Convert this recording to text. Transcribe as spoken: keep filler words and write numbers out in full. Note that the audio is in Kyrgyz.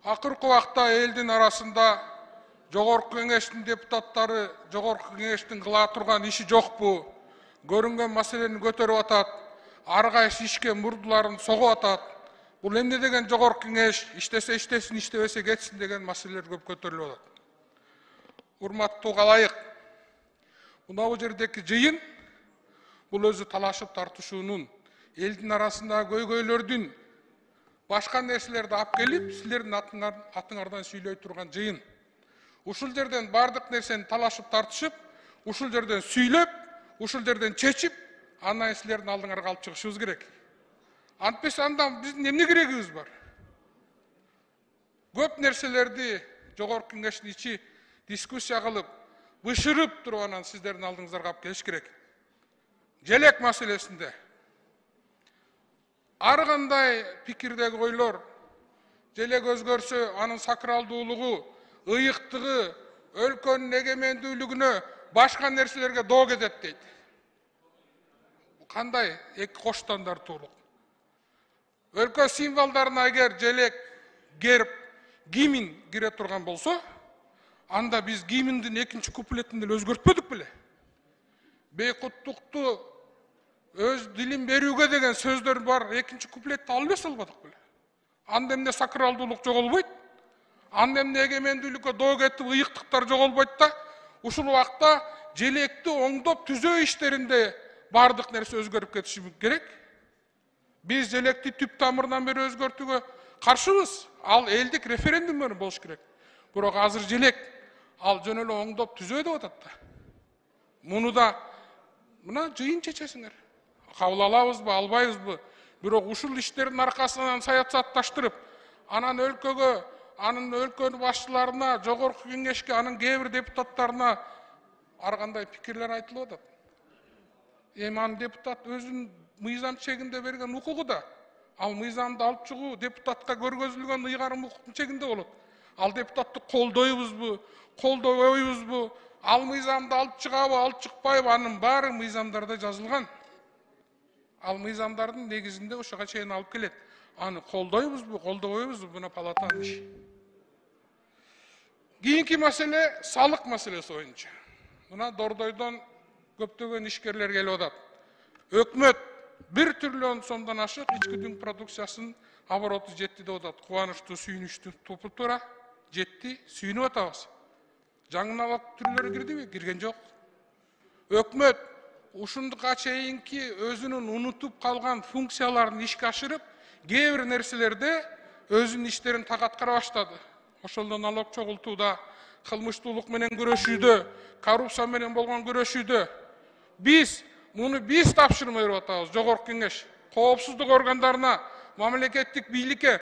Акыркы убакта элдин арасында Жогорку Кеңештин депутаттары Жогорку Кеңештин кыла турган иши жокпу, көрүнгөн маселени көтөрүп атат, ар кайсы ишке мурдуларын согуп атат. Бул эмне деген Жогорку Кеңеш, иштесе иштесин, иштебесе кетсин деген маселелер көп көтөрүлүп атат. Урматтуу калайык, мына бул жердеки жыйын бул өзү талашып тартышуунун, элдин арасындагы көйгөйлөрдүн, башка нерселерди алып келип, силердин атыңардан сүйлөй турган жыйын. Ушул жерден бардык нерсени талашып тартышып, ушул жерден сүйлөп, ушул жерден чечип, андан силердин алдыңарга алып чыгышыбыз керек. Антпесе андан биздин эмне керегибиз бар? Көп нерселерди Жогорку Кеңештин ичи дискуссия кылып, бышырып туруп анан сиздердин алдыңыздарга алып келиш керек. Желек маселесинде ар кандай пикирдеги ойлор, желек өзгөрсө анын сакралдуулугу, ыйыктыгы, өлкөнүн эгемендүүлүгүнө, башка нерселерге доо кетет дейт. Кандай эки кош стандартуулук? Өлкө символдоруна эгер желек, герб, гимн кире турган болсо, анда биз гимндин экинчи куплетин деле өзгөртпөдүк беле? Бейкуттукту өз дилин берүүгө деген сөздөр бар, экинчи куплетти алып эс албадык беле? Анда эмне сакралдуулук жоголбойт? Анда эмне эгемендүүлүккө доо кетип, ыйыктыктар жоголбойт да? Ушул убакта желекти оңдоп түзөө иштеринде бардык нерсе өзгөрүп кетиши керек. Биз желекти түп тамырынан бери өзгөртүүгө каршыбыз. Ал элдик референдум менен болуш керек. Бирок азыр желек ал жөн эле оңдоп түзөө деп атат да. Муну да мына жыйын чечесиңер. Кабыл алабызбы, албайбызбы? Бирок ушул иштердин аркасынан саясатташтырып, анан өлкөгө, анын өлкөнүн башчыларына, Жогорку Кеңешке, анын кээ бир депутаттарына ар кандай пикирлер айтылып атат. Эми анын депутат өзүнүн мыйзам чегинде берген укугу да. Ал мыйзамды алып чыгуу депутатка көргөзүлгөн ыйгарым укуктун чегинде болот. Ал депутатты колдойбузбу, колдобойбузбу, ал мыйзамды алып чыгабы, алып чыкпайбы, анын баары мыйзамдарда жазылган. Ал мыйзамдардын негизинде ошого чейин алып келет. Аны колдойбузбу, колдобойбузбу, буна палатанын иши. Кийинки маселе салык маселеси боюнча. Мына Дордойдон көптөгөн ишкерлер келип атат. Өкмөт бир триллион сомдон ашык ички дүң продукциясынын обороту жетти деп атат. Кубанычтуу, сүйүнүчтүү туура жетти, сүйүнүп атабыз. Жаңы налог түрлөрү кирдиби? Кирген жок. Өкмөт ушундукка чейинки өзүнүн унутуп калган функцияларын ишке ашырып, кээ бир нерселерде өзүнүн иштерин так аткара баштады. Ошондо налог чогултууда, кылмыштуулук менен күрөшүүдө, коррупция менен болгон күрөшүүдө биз муну биз тапшырма берип атабыз. Жогорку Кеңеш коопсуздук органдарына, мамлекеттик бийликке